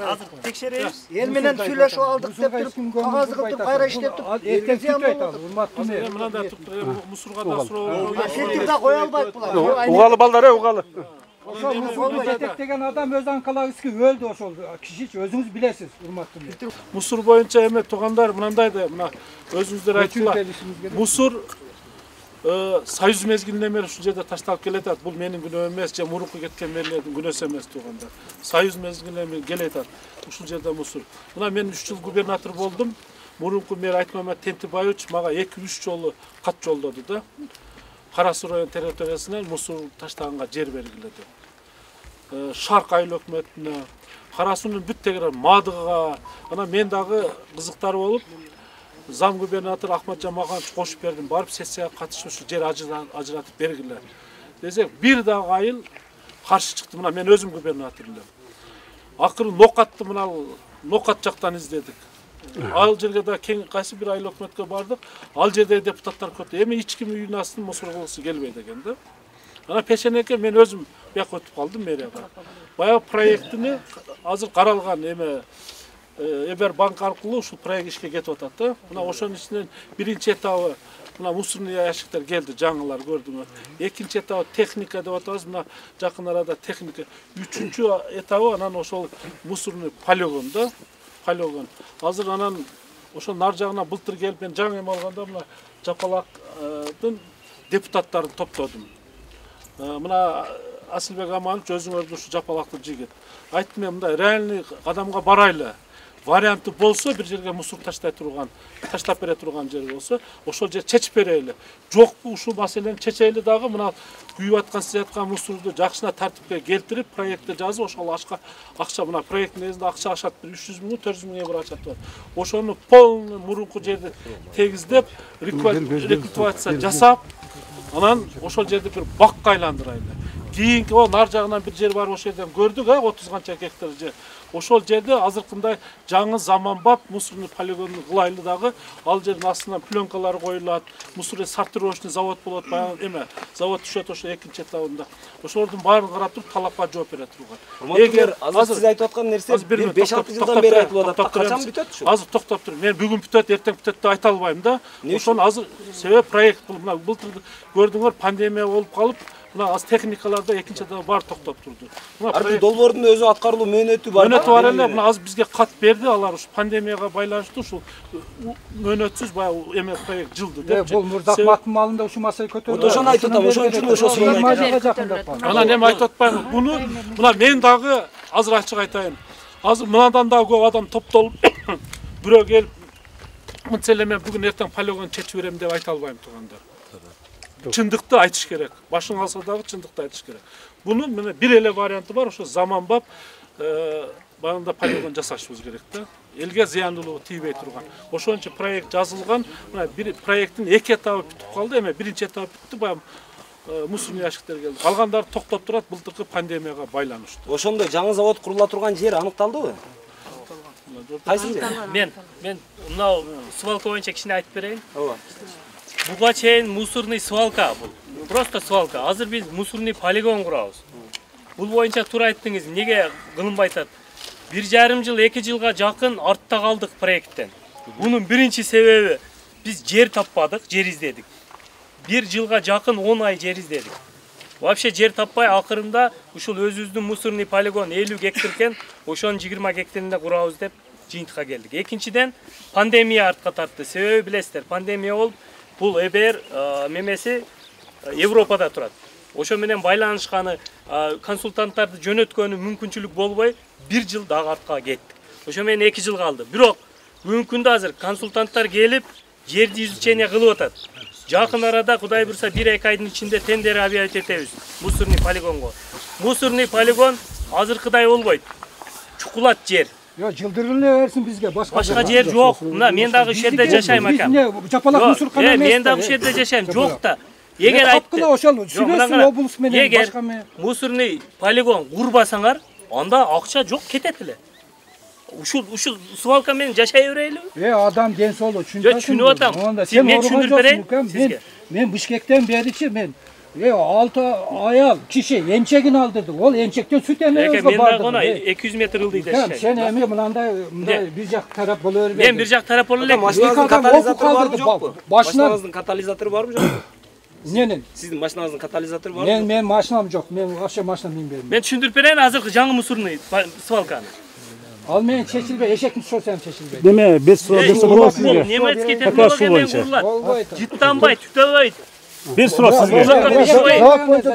Азыр текшеребиз. Эл менен сүйлөшүп алдык деп туруп, кагазды кылып кайра иштеп туруп, мындай мусорго да суроо. Сетип да кое албайт булар. Угалы балдар, угалы. Ошол мусорду жетектеген адам өз анкалагыбызга өлдү ошол. Кишичи өзүңүз билесиз, урматтуу. Мусор боюнча эме туугандар мынандай да, мына өзүңүздөр айттыңар. Мусор Союз мезгилинен бери ушул жерде ташталып келатат. Бул менин күнөөм эмес, же мурунку кеткен мэрлердин күнөөсү эмес туугандар. Союз мезгилинен бери келатат. Ушул жерде мусор. Мына мен 3 жыл губернатор болдум. Мурунку мэр Айтмамат Тентибаевич мага 2-3 жолу кат жолдоду да. Кара Суу район территориясынан мусор таштаганга жер белгиледи. Шарк айыл өкмөтүнө, Кара Суунун бүт тегерен Мадыга, ана мен дагы кызыктар болуп, зам губернатор Ахматжан Маканович кошуп бердим, барып сессияга катышып ушу жер ажыратып бергиле десек, бир дагы айыл каршы чыкты. Мына мен өзүм губернатор элем. Акыры Нокатты мына Нокат жактан издедик. Ал жерге да кең кайсы бир айыл өкмөткө бардык. Ал жерде депутаттар көп. Эми эч ким үйүнүн астын мусор кылгысы келбейт экен да. Ана пешенеке мен өзүм бияка өтүп калдым мэрияга. Баягы проектини азыр каралган эме Эбер банк аркылуу ушул проект ишке кетип атат да. Мына ошонун ичинен биринчи этабы мына мусорный ящиктер келди, жаңылар көрдүңөр. Экинчи этабы техника деп атабыз, мына жакын арада техника. Үчүнчү этабы анан ошол мусорный полигон да. Полигон. Азыр анан ошол нар жагына былтыр келип мен жаңы эме алганда мына Жапалактын депутаттарын топтодум. Мына Асылбек Аманович өзүңөрдүн ушу Жапалактын жигит. Айттым мен мындай реальный кадамга барайлы. Варианты болсо бир жерге мусор таштап бере турган жер болсо, ошол жер чечип берели. Жокпу ушул маселени чечели дагы мына күйүп аткан сыяткан мусорду жакшына тартипке келтирип, проектти жазып, ошол акча мына проекттин негизинде акча ашат, 300 миң, 400 миң евро ашат бар. Ошону полный мурунку жерди тегиздеп, рекультивация жасап, анан ошол жерди бир бакка айландырайлы. Кийинки нар жагынан бир жер бар, ошол жерден көрдүк, 30 канча гектар жер. Ошол жерде азыркындай жаңы заманбап мусорный полигонду кылайлы дагы. Ал жердин астынан пленкалар коюлат, мусорный сортировочный завод болот, баягы эме завод түшөт ошол экинчи этабында. Ошолордун баарын карап туруп, талапка жооп бере турган. Эгер азыр сиз айтып аткан нерсе 5-6 жылдан бери айтылып атат. Качан бүтөт ушу? Азыр токтоп туруп, мен бүгүн бүтөт, эртең бүтөт деп айта албайм да. Ошону азыр себеп проект бул. Мына былтыр көрдүңөр, пандемия болуп калып, мына аз техникаларда экинчи этабы бар токтоп турду. Ар долбоордун өзү аткарылуу мөөнөтү бар. Мөөнөтү бар эле, мына аз бизге кат берди, алар ушу пандемияга байланыштуу ушул мөөнөтсүз баягы эме проект жылды деп. Бул Мурзакматтын малында ушул маселе көтөрүлдү. Ошону айтып атам, ошон үчүн ошосун анан эме айтып атпаймынбы? Буну мына мен дагы азыр ачык айтайын. Азыр мындан дагы көп адам топтолуп бирөө келип мынча эле мен бүгүн эртең полигон чечип берем деп айта албайм туугандар. Чындыкты айтыш керек. Башың алса дагы чындыкты айтыш керек. Бунун мына бир эле варианты бар, ошо заманбап баягында полигон жасашыбыз керек да. Элге зыяндуулугу тийбей турган. Ошон үчүн проект жазылган. Мына бир проекттин 2 этабы бүтүп калды, эме биринчи этабы бүттү, баягы мусорный ящиктер келди. Калгандары токтоп турат, былтыркы пандемияга байланыштуу. Ошондой жаңы завод курула турган жер аныкталдыбы? Кайсы жер? Мен мына свалка боюнча кичине айтып берейин. Ооба. Буга чейин мусорный свалка бул. Просто свалка. Азыр биз мусорный полигон курабыз. Бул боюнча туура айттыңыз, эмнеге кылынбай атат? 1,5 жыл, 2 жылга жакын артта калдык проекттен. Бунун биринчи себеби биз жер таппадык, жер издедик. 1 жылга жакын 10 ай жер издедик. Вообще жер таппай акырында ушул өзүбүздүн мусорный полигон 50 гектар экен, ошонун 20 гектарында курабыз деп жыйынтыкка келдик. Экинчиден пандемия артка тартты. Себеби билесиздер, пандемия болуп бул ЭБР мемеси Европада турат. Ошо менен байланышканы, консультанттарды жөнөткөнү мүмкүнчүлүк болбой 1 жыл дагы артка кеттик. Ошо менен 2 жыл калды. Бирок бүгүнкү күндө азыр консультанттар келип жерди изучение кылып атат. Жакын арада Кудай бурса 1-2 айдын ичинде тендер объявить этебиз мусорный полигонго. Мусорный полигон азыркыдай болбойт. Чукулат жер. Жылдырылы берсин бизге, башка жер жок. Мына мен дагы ушул жерде жашайм акам. Жапалак мусоркана эмес. Мен дагы ушул жерде жашайм, жок да. Эгер айтты, ошол сүйлөшсүн облус менен башка менен. Мусорный полигон курбасаңар, анда акча жок кетет эле. Ушул свалка менен жашай берелиби? Адам ден соолугу чүнүп атам. Түшүнүп атам. Мен түшүндүрүп берейин. Мен Бишкектен беричи мен 6 ayal kişi emçegini aldırdı. Ol emçekten süt ememiz Men vardı. dagı ona 200 metr ıldı Tamam, dedi. sen emi mınандай bir jak taraf buluyor. Men bir jak taraf bolur elek. Машинаңыздын adam катализатору окуп барбы калдырды, жокпу? башынан- Машинаңыздын катализатору барбы жокпу? Nenin? Сиздин машинаңыздын катализатору барбы? Men maşinam yok. Men aşağı maşinam minberim. Men түшүндүрүп берейин азыркы жаңы мусорный свалканы. Al men çeşilbe eşek mi sorsam çeşilbe. Деме 5 суроо болот сизге. Немецкий Такашуу технология менен боюнча. курулат. Ol koydu. Жыттанбайт, түтөбөйт. Бир суроо сизге. Ошого Завод боюнча